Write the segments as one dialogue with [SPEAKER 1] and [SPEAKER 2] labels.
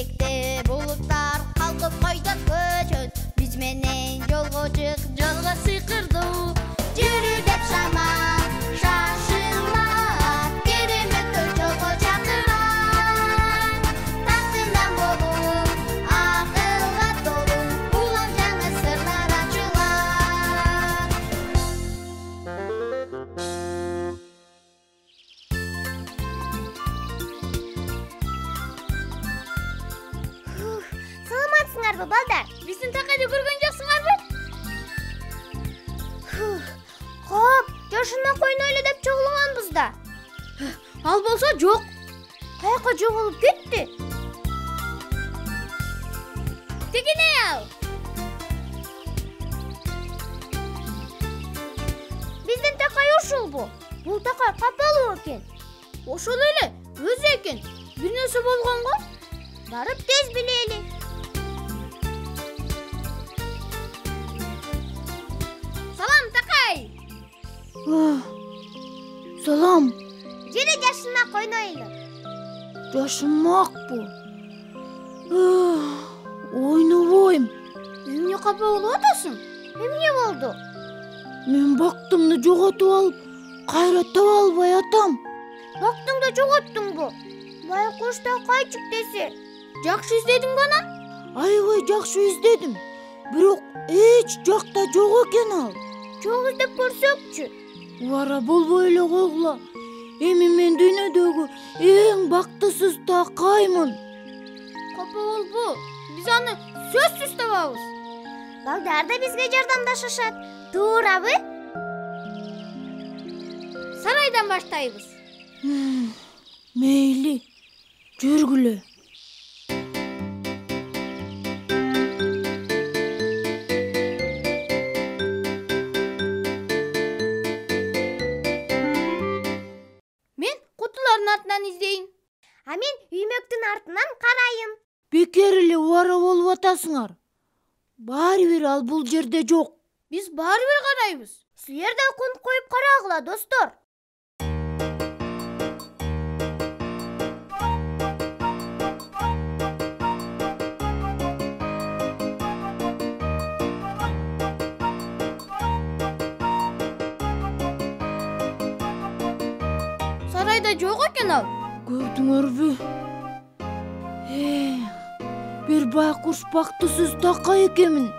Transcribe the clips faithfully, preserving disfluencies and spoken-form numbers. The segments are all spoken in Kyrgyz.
[SPEAKER 1] бийликте булуттар калкып койдон көчөт. Биз менен жолго чык, жолго сыйкырдуу. Жүрү деп шамал, шашылма, кереметтер жолго чакырат. Тактынан болуп, акылга толуу, улам жаңы сырлар ачылат. Саламатсыңарбы, балдар?
[SPEAKER 2] Биздин такайды көргөн жоксуңарбы?
[SPEAKER 1] Кап, жашына койнойлу деп чогулганбыз да.
[SPEAKER 2] Ал болсо жок.
[SPEAKER 1] Каяка жоголуп кетти?
[SPEAKER 2] Тигине ал.
[SPEAKER 1] Биздин такай ушулбу? Бул такай капалуу экен.
[SPEAKER 2] Ошол эле, өзү экен. Бир нерсе болгон го?
[SPEAKER 1] Барып тез билели.
[SPEAKER 2] Салам, такай.
[SPEAKER 3] Салам.
[SPEAKER 1] Жүрү жашына койнойлу.
[SPEAKER 3] Жашынмакпы. Ойнобойм.
[SPEAKER 2] Эмне капа болуп атасың?
[SPEAKER 1] Эмне болду?
[SPEAKER 3] Мен бактымды жоготуп алып, кайра таба албай атам.
[SPEAKER 1] Бактыңды жоготтуңбу? Байкуш такайчык десе.
[SPEAKER 2] Жакшы издедиң го анан?
[SPEAKER 3] Аябай жакшы издедим. Бирок эч жакта жок экен ал.
[SPEAKER 1] Чоң издеп көрсөкчү.
[SPEAKER 3] Убара болбой эле койгула. Эми мен дүйнөдөгү эң бактысыз такаймын.
[SPEAKER 2] Капа болбу. Биз аны сөзсүз табабыз.
[SPEAKER 1] Балдар да бизге жардамдашышат. Туурабы?
[SPEAKER 2] Сарайдан баштайбыз.
[SPEAKER 3] Мейли, жүргүлө.
[SPEAKER 2] Мен кутулардын артынан издейин.
[SPEAKER 1] А мен үймөктүн артынан карайын.
[SPEAKER 3] Бекер эле убара болуп атасыңар. Баары бир ал бул жерде жок.
[SPEAKER 2] Биз баары бир карайбыз.
[SPEAKER 1] Силер да кунт коюп карагыла, достор.
[SPEAKER 2] Сарайда жок экен ал.
[SPEAKER 3] Көрдүңөрбү? Э, бир байкуш бактысыз такай экенмин.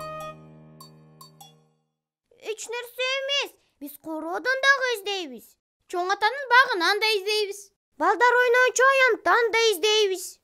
[SPEAKER 1] Эч нерсе эмес. Биз короодон дагы издейбиз.
[SPEAKER 2] Чоң атанын багынан да издейбиз.
[SPEAKER 1] Балдар ойночу аянттан да издейбиз.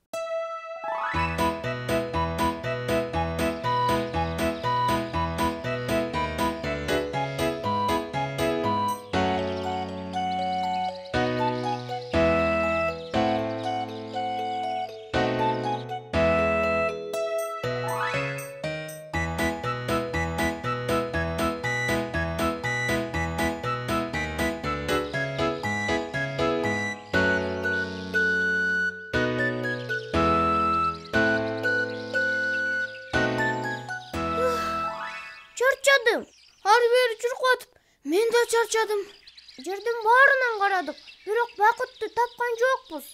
[SPEAKER 1] Чарчадым.
[SPEAKER 2] Ары бери чуркап атып, мен да чарчадым.
[SPEAKER 1] Жердин баарынан карадык, бирок бакытты тапкан жокпуз.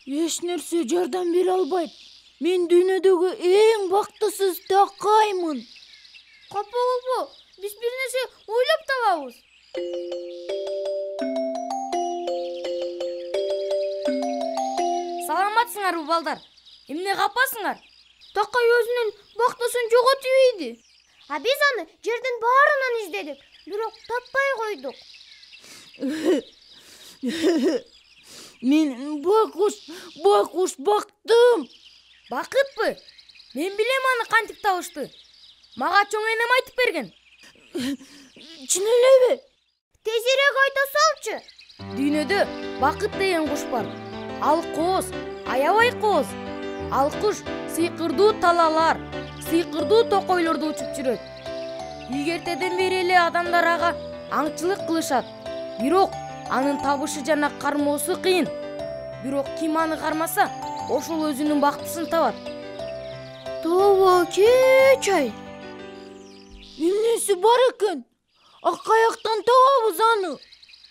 [SPEAKER 3] Эч нерсе жардам бере албайт. Мен дүйнөдөгү эң бактысыз такаймын.
[SPEAKER 2] Капа болбо, биз бир нерсе ойлоп табабыз. Саламатсыңарбы, балдар? Эмне капасыңар? Такай өзүнүн бактысын жоготуп ийди.
[SPEAKER 1] А биз аны жердин баарынан издедик, бирок таппай койдук.
[SPEAKER 3] Мен байкуш, байкуш бактым.
[SPEAKER 2] Бакытпы? Мен билем аны кантип табышты. Мага чоң энем айтып берген.
[SPEAKER 3] Чын элеби?
[SPEAKER 1] Тезирээк айта салчы.
[SPEAKER 2] Дүйнөдө бакыт деген куш бар. Ал кооз, аябай кооз. Ал куш сыйкырдуу талалар, сыйкырдуу токойлорду учуп жүрөт. Ийгертеден бери эле адамдар ага аңчылык кылышат. Бирок анын табышы жана кармоосу кыйын. Бирок ким аны кармаса, ошол өзүнүн бактысын табат.
[SPEAKER 3] Тоба чечай. Эмнеси бар экен? Акаяктан табабыз аны.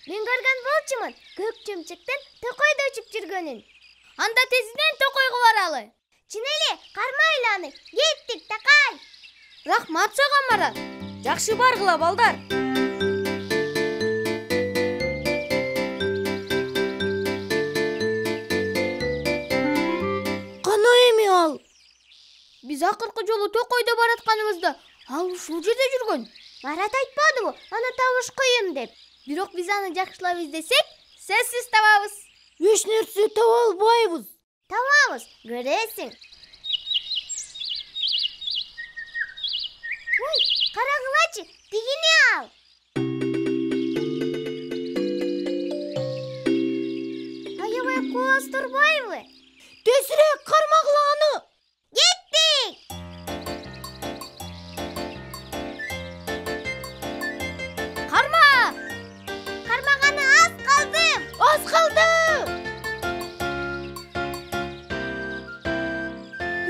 [SPEAKER 1] Мен көргөн болчумун көк чымчыктын токойдо учуп жүргөнүн.
[SPEAKER 2] Анда тезинен токойго баралы.
[SPEAKER 1] Чын эле, кармайлы аны. Кеттик, такай.
[SPEAKER 2] Рахмат сага Марат. Жакшы баргыла балдар.
[SPEAKER 3] Кана эми ал?
[SPEAKER 2] Биз акыркы жолу Токойдо баратканыбызда ал ушул жерде жүргөн.
[SPEAKER 1] Марат айтпадыбы, аны табыш кыйын деп.
[SPEAKER 2] Бирок биз аны жакшылап издесек, сөзсүз табабыз.
[SPEAKER 3] Эч нерсе таба албайбыз.
[SPEAKER 1] Табабыз, көресиң. Ой, карагылачы, тигине ал. Аябай кооз турбайбы?
[SPEAKER 3] Тезирээк кармагыла аны.
[SPEAKER 1] Кеттик.
[SPEAKER 2] Карма!
[SPEAKER 1] Кармаганы аз калдым.
[SPEAKER 3] Аз калды.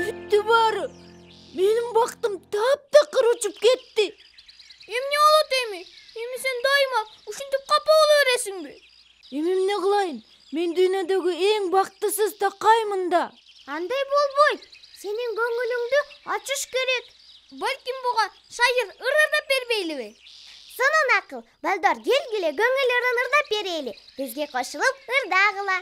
[SPEAKER 3] Бүттү баары. Менин бактым таптакыр учуп кетти.
[SPEAKER 2] Эмне болот эми? Эми сен дайыма ушинтип капа боло бересиңби?
[SPEAKER 3] Эми эмне кылайын? Мен дүйнөдөгү эң бактысыз такаймын да.
[SPEAKER 1] Андай болбойт. Сенин көңүлүңдү ачыш керек.
[SPEAKER 2] Балким буга шайыр ырырдап бербейлиби?
[SPEAKER 1] Сонун акыл. Балдар, келгиле көңүл ырын ырдап берели. Бизге кошулуп ырдагыла.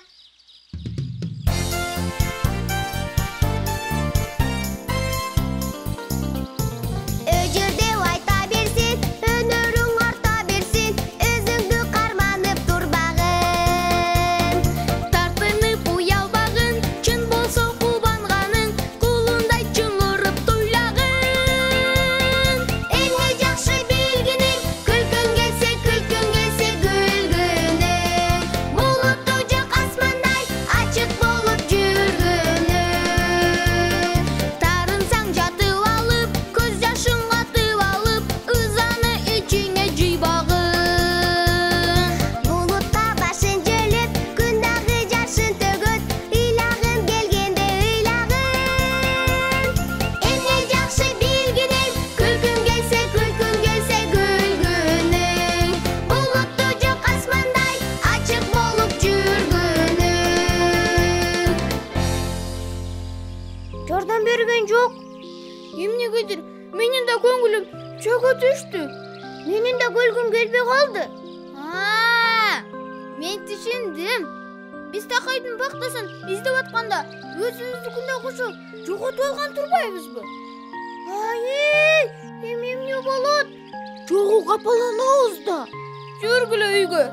[SPEAKER 1] Өжөр деп айта берсин, өнөрүң арта берсин, өзүңдү карманып турбагын.
[SPEAKER 2] Тартынып уялбагын, чын болсо кубанганың, кулундай чыңырып туйлагын.
[SPEAKER 1] Эмне жакшы билгиниң, күлкүң келсе, күлкүң келсе күлгүнүң. Булутту жок асмандай ачык болуп жүргүнүң.
[SPEAKER 2] Тарынсаң жатып алып, көз жашың катып алып, ызаны ичиңе жыйбагын.
[SPEAKER 1] Булутта башын жөлөп, күн дагы жашын төгөт, ыйлагын келгенде ыйлагын. Эмне жакшы билгиниң, күлкүң келсе, күлкүң келсе күлгүнүң. Булутту жок асмандай ачык болуп жүргүнүң. Жардам берген жок.
[SPEAKER 2] Эмнегедир менин да көңүлүм чөгө түштү.
[SPEAKER 1] Менин да күлгүм келбей калды.
[SPEAKER 2] Аа, мен түшүндүм. Биз такайдын бактасын издеп атканда өзүбүздүкүнө кошо жоготуп алган турбайбызбы?
[SPEAKER 1] Ай, эми эмне болот?
[SPEAKER 3] Жогу капаланабыз да.
[SPEAKER 2] Жүргүлө үйгө.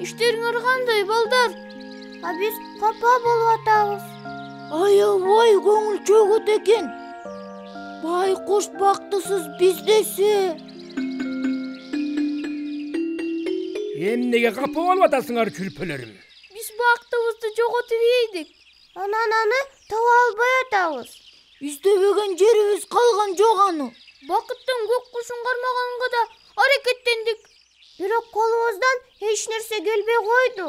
[SPEAKER 2] Иштериңер кандай, балдар?
[SPEAKER 1] А биз капа болуп атабыз.
[SPEAKER 3] Аябай көңүл чөгөт экен. Байкуш бактысыз биз десе.
[SPEAKER 4] Эмнеге капа болуп атасыңар, күлпөлөрүм?
[SPEAKER 2] Биз бактыбызды жоготуп ийдик.
[SPEAKER 1] Анан аны таба албай атабыз.
[SPEAKER 3] Издебеген жерибиз калган жок аны.
[SPEAKER 2] Бакыттын көк кушун кармаганга да аракеттендик.
[SPEAKER 1] Бирок колубуздан эч нерсе келбей койду.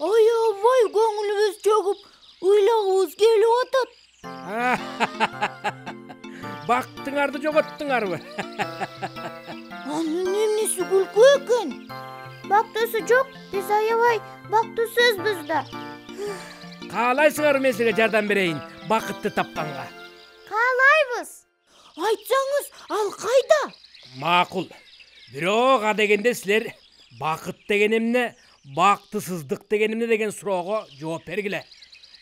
[SPEAKER 3] Аябай көңүлүбүз чөгүп, ыйлагыбыз келип атат.
[SPEAKER 4] Бактыңарды жоготтуңарбы?
[SPEAKER 3] Анын эмнеси күлкү экен?
[SPEAKER 1] Бактысы жок, биз аябай бактысызбыз да.
[SPEAKER 4] Каалайсыңар мен силерге жардам берейин бакытты тапканга?
[SPEAKER 1] Каалайбыз.
[SPEAKER 3] Айтсаңыз, ал кайда?
[SPEAKER 4] Макул. Бирок а дегенде силер бакыт деген эмне, бактысыздык деген эмне деген суроого жооп бергиле.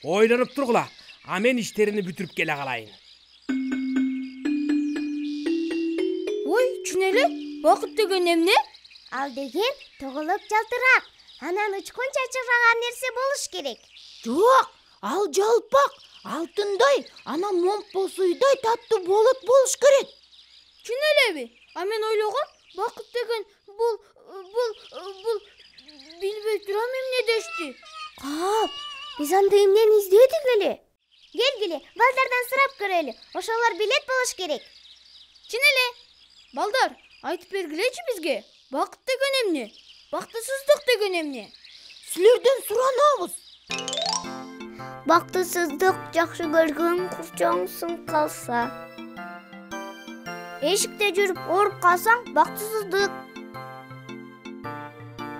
[SPEAKER 4] Ойлонуп тургула, а мен иштеримди бүтүрүп келе калайын.
[SPEAKER 2] Ой, чын эле? Бакыт деген эмне?
[SPEAKER 1] Ал деген тоголоп жалтырак, анан учкун чачыраган нерсе болуш керек.
[SPEAKER 3] Жок, ал жалпак, алтындай, анан момпо суйдай таттуу болот болуш керек.
[SPEAKER 2] Чын элеби? А мен ойлогом, бакыт деген бул бул бул билбей турам эмне дешти.
[SPEAKER 1] Кап, биз анда эмнени издедик эле? Келгиле, балдардан сурап көрөлү. Ошолор билет болуш керек.
[SPEAKER 2] Чын эле? Балдар, айтып бергилечи бизге. Бакыт деген эмне? Бактысыздык деген эмне?
[SPEAKER 3] Силерден суранабыз.
[SPEAKER 1] Бактысыздык жакшы көргөн курчоңсуң калса. эшикте жүрүп ооруп калсаң бактысыздык.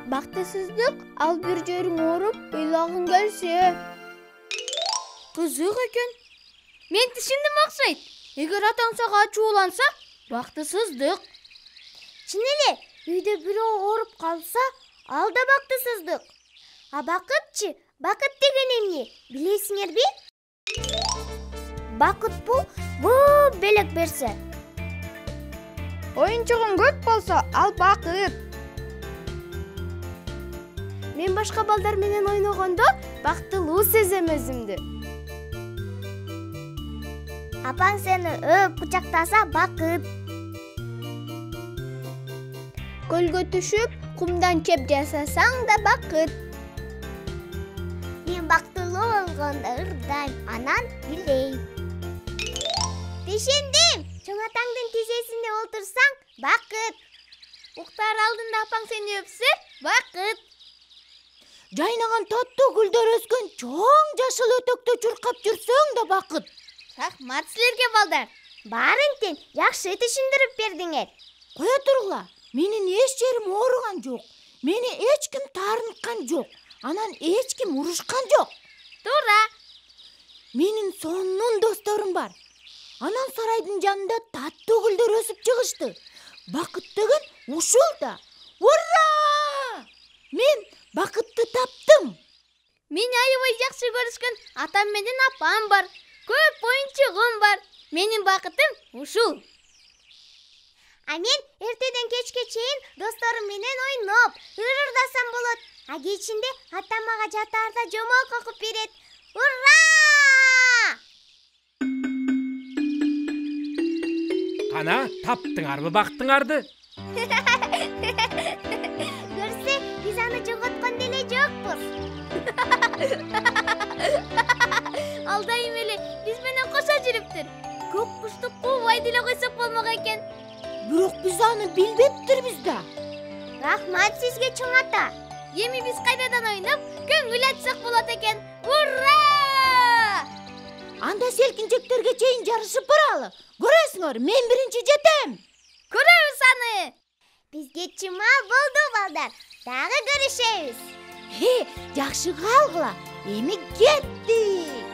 [SPEAKER 1] Бактысыздык ал бир жериң ооруп ыйлагың келсе.
[SPEAKER 2] Кызык экен. Мен түшүндүм окшойт. Эгер атаң сага ачууланса, бактысыздык.
[SPEAKER 1] Чын эле, үйдө бирөө ооруп калса, ал да бактысыздык. А бакытчы, бакыт деген эмне? Билесиңерби? Бакыт бул көп белек берсе.
[SPEAKER 2] Оюнчугуң көп болсо, ал бакыт.
[SPEAKER 1] Мен башка балдар менен ойногондо бактылуу сезем өзүмдү. Апаң сени өп кучактаса бакыт. Көлгө түшүп, кумдан чеп жасасаң да бакыт. Мен бактылуу болгондо ырдайм, анан билейм. Түшүндүм. Чоң атаңдын тизесинде олтурсаң бакыт. Уктар алдында апаң сени өпсө бакыт.
[SPEAKER 3] Жайнаган таттуу гүлдөр өскөн чоң жашыл өтөктө чуркап жүрсөң да бакыт.
[SPEAKER 1] Рахмат силерге балдар. Баарын тең жакшы түшүндүрүп бердиңер.
[SPEAKER 3] Кое тургула, менин эч жерим ооруган жок. Мени эч ким таарынткан жок. Анан эч ким урушкан жок.
[SPEAKER 1] Туура.
[SPEAKER 3] Менин сонун досторум бар. Анан сарайдын жанында таттуу гүлдөр өсүп чыгышты. Бакыт деген ушул да. Ура! Мен бакытты таптым.
[SPEAKER 1] Мени аябай жакшы көрүшкөн атам менен апам бар. Көп оюнчугум бар. Менин бакытым ушул. А мен эртеден кечке чейин досторум менен ойноп, ырырдасам болот. А кечинде атам мага жатаарда жомок окуп берет. Ура!
[SPEAKER 4] Кана, таптыңарбы бактыңарды?
[SPEAKER 1] Көрсө, биз аны жоготкон деле жокпуз. Ал дайым эле биз менен кошо жүрүптүр. Көк кушту куубай деле койсок болмок экен.
[SPEAKER 3] Бирок биз аны билбептирбиз да.
[SPEAKER 1] Рахмат сизге чоң ата. Эми биз кайрадан ойноп, көңүл ачсак болот экен. Ура!
[SPEAKER 3] Анда селкинчектерге чейин жарышып баралы. Көрөсүңөр, мен биринчи жетем.
[SPEAKER 1] Көрөбүз аны. Бизге чымал болду балдар. Дагы көрүшөбүз.
[SPEAKER 3] Хе, жакшы калгыла. Эми кеттик.